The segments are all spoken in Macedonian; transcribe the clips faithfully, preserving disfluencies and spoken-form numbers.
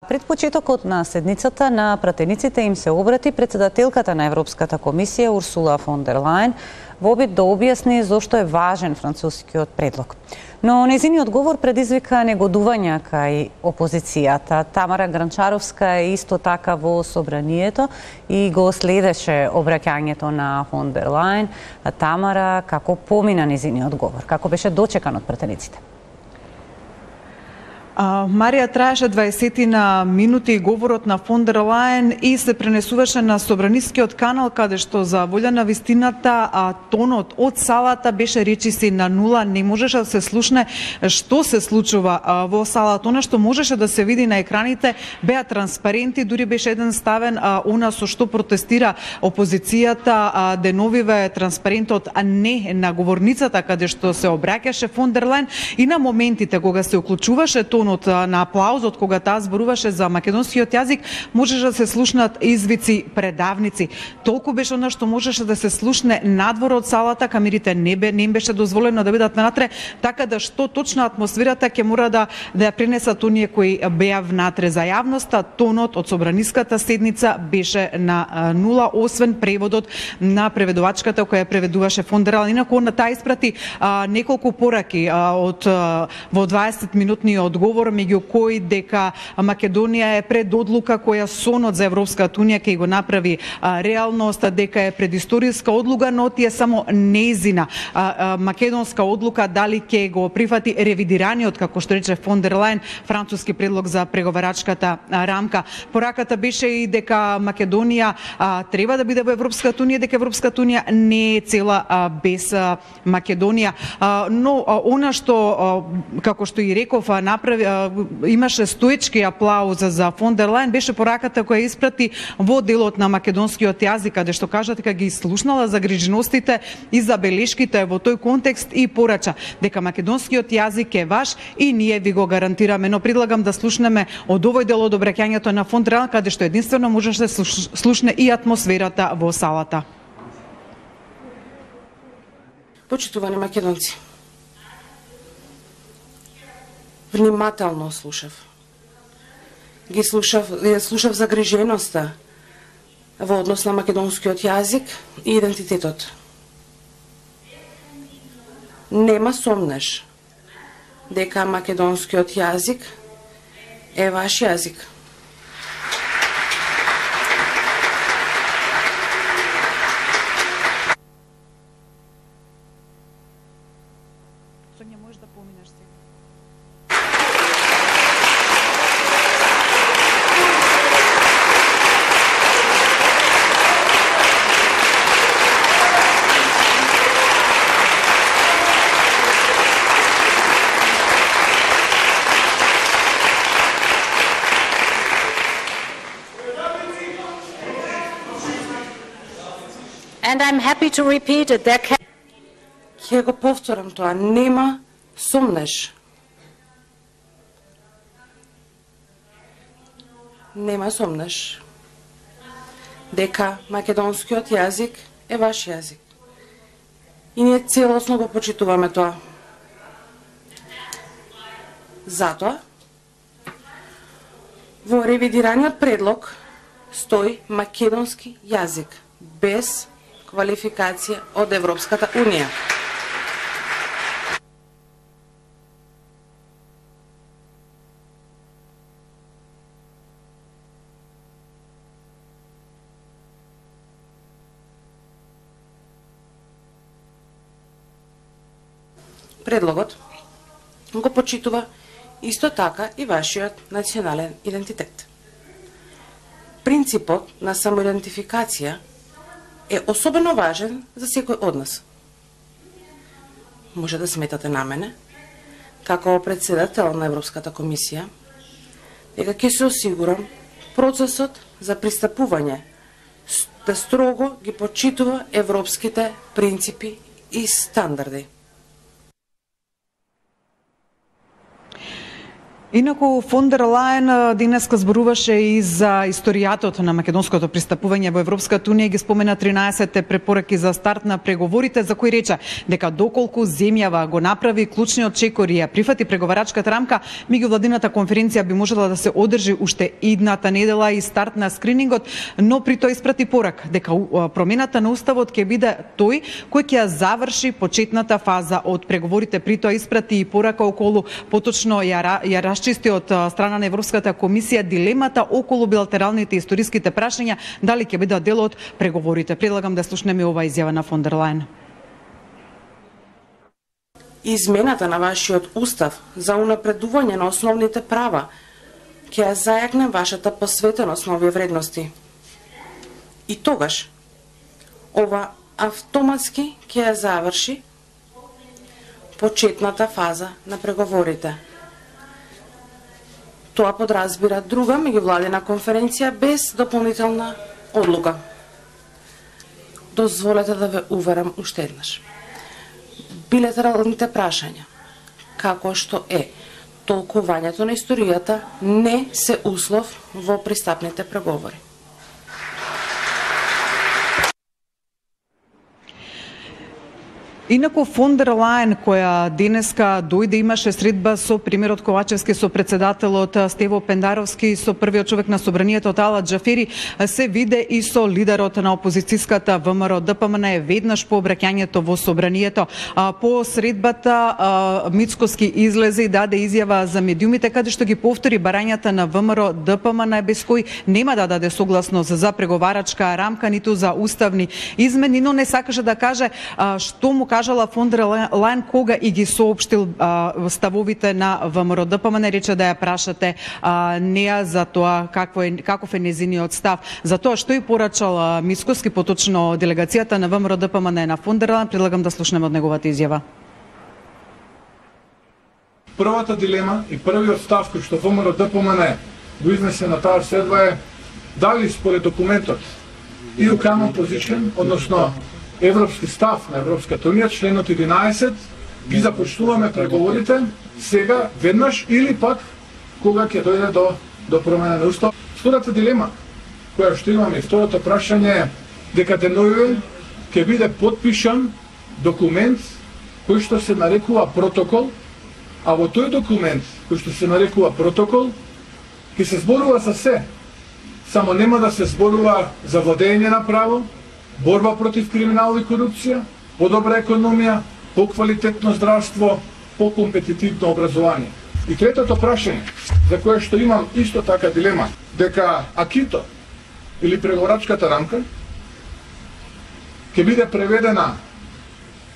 Пред почетокот на седницата на пратениците им се обрати председателката на Европската комисија Урсула фон дер Лајен во обид да објасни зошто е важен францускиот предлог. Но нејзиниот говор предизвика негодување кај опозицијата. Тамара Гранчаровска е исто така во собранието и го следеше обраќањето на фон дер Лајен. Тамара, како помина нејзиниот говор? Како беше дочекан од пратениците? Марија, траеше дваесет на минути говорот на фон дер Лајен и се пренесуваше на собранискиот канал, каде што за волја на вистината а, тонот од салата беше речиси на нула, не можеше да се слушне што се случува а, во салата. Она што можеше да се види на екраните беа транспаренти, дури беше еден ставен а, она со што протестира опозицијата, а, деновиве транспарентот а не на говорницата каде што се обраќаше фон дер Лајен и на моментите кога се уклучуваше тонот на аплаузот кога таа зборуваше за македонскиот јазик, можеше да се слушнат извици предавници. Толку беше она што можеше да се слушне надвор од салата, камерите не, бе, не им беше дозволено да бидат внатре, така да што точно атмосферата ќе мора да да ја пренесат оние кои беа внатре за јавноста. Тонот од собраниската седница беше на нула, освен преводот на преведувачката која преведуваше фон дер Лајен. Инаку на таа испрати а, неколку пораки а, од а, во дваесет минутниот одговор, меѓу кои дека Македонија е пред одлука која сонот за Европската унија ќе го направи а, реалност, дека е предисториска одлука, но тие само нејзина а, а, македонска одлука дали ќе го прифати ревидираниот, како што рече фон дер Лајен, француски предлог за преговарачката а, рамка. Пораката беше и дека Македонија а, треба да биде во Европската унија, дека Европската унија не е цела а, без а, Македонија. А, но а, она што а, како што и реков направи имаше стоечки аплауз за фон дер Лајен, беше пораката која испрати во делот на македонскиот јазик, каде што кажа дека ги слушнала загриженостите и забелешките во тој контекст и порача дека македонскиот јазик е ваш и ние ви го гарантираме. Но предлагам да слушнеме од овој дел од обраќањето на фон дер Лајен, каде што единствено можеше да слушне и атмосферата во салата. Почитувани македонци, внимателно слушав. Ги слушав, слушав загриженоста во однос на македонскиот јазик и идентитетот. Нема сомнеш дека македонскиот јазик е ваш јазик. And I'm happy to repeat it. There can... Ќе го повторам тоа, нема сомнеш. Нема сомнеш дека македонскиот јазик е ваш јазик. И ние целосно го почитуваме тоа. Затоа, во ревидираниот предлог стои македонски јазик, без квалификација од Европската унија. Предлогот го почитува исто така и вашиот национален идентитет. Принципот на самоидентификација е особено важен за секој од нас. Може да сметате на мене, како председател на Европската комисија, дека ќе се осигурам процесот за пристапување да строго ги почитува европските принципи и стандарди. Инаку фон дер Лајен денеска зборуваше и за историјатот на македонското пристапување во Европската унија, ги спомена тринаесетте препораки за старт на преговорите, за кои рече дека доколку земјава го направи клучниот чекор и ја прифати преговарачката рамка, меѓувладината конференција би можела да се одржи уште идната недела и старт на скринингот, но при тоа испрати порак дека промената на уставот ќе биде тој кој ќе ја заврши почетната фаза од преговорите. При тоа испрати и порака околу поточно ја, ја чисти од страна на Европската комисија дилемата околу билатералните историските прашања, дали ќе бидат дел од преговорите. Предлагам да слушнеме ова изјава на фон дер Лајен. Измената на вашиот устав за унапредување на основните права ќе ја зајакне вашата посветеност на овие вредности. И тогаш ова автоматски ќе ја заврши почетната фаза на преговорите. Тоа подразбира друга меѓувладина конференција без дополнителна одлука. Дозволете да ве уверам уште еднаш. Билатералните прашања, како што е толкувањето на историјата, не се услов во пристапните преговори. Инаку фон дер Лајен, која денеска дојде, имаше средба со премиерот Ковачевски, со председателот Стево Пендаровски, со првиот човек на собранието Талат Џафери, се виде и со лидерот на опозицијската ВМРО Д П М Н веднаш по обраќањето во собранието. По средбата Мицкоски излезе и даде изјава за медиумите, каде што ги повтори барањата на ВМРО Д П М Н, без кој нема да даде согласност за преговарачка рамка, ниту за уставни измени, но не сакаше да каже што му кажала фон дер Лајен кога и ги соопштил а, ставовите на ВМРО Д П М Н, рече да ја прашате а, неа за тоа какво е, каков е незиниот став. За тоа што и порачал Мицкоски, поточно делегацијата на ВМРО Д П М Н на фон дер Лајен, предлагам да слушнеме од неговата изјава. Првата дилема и првиот став кој што ВМРО Д П М Н го изнесе на таа седба е дали според документот и у Common Position, односно европски став на Европската унија, членот единаесет, ги започнуваме преговорите сега, веднаш, или пак кога ќе дојде до, до промена на устав. Втората дилема, која што имаме, второто прашање е дека денојуве ќе биде подпишан документ кој што се нарекува протокол, а во тој документ кој што се нарекува протокол ќе се зборува за се, само нема да се зборува за владење на право, борба против криминал и корупција, подобра економија, поквалитетно здравство, покомпетитивно образование. И третото прашање, за кое што имам исто така дилема, дека акито или преговорачката рамка ќе биде преведена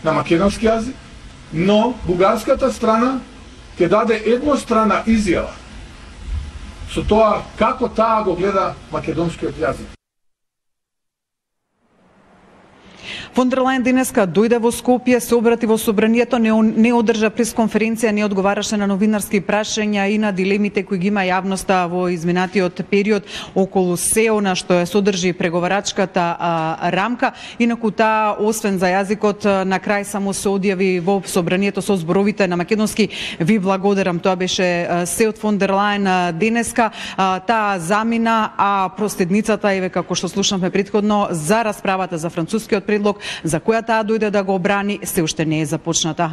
на македонски јазик, но бугарската страна ќе даде еднострана изјава со тоа како таа го гледа македонскиот јазик. Фон дер Лајен денеска дојде во Скопје, се обрати во собранието, не, не одржа пресконференција, не одговараше на новинарски прашања и на дилемите кои ги има јавноста во изминатиот период околу се она што е содржи преговарачката а, рамка. Инаку таа, освен за јазикот, на крај само се одјави во собранието со зборовите на македонски. Ви благодарам, тоа беше се од фон дер Лајен денеска. А, таа замина, а проследницата, еве како што слушнавме претходно, за расправата за францускиот предлог, за која таа дојде да го брани, се уште не е започната.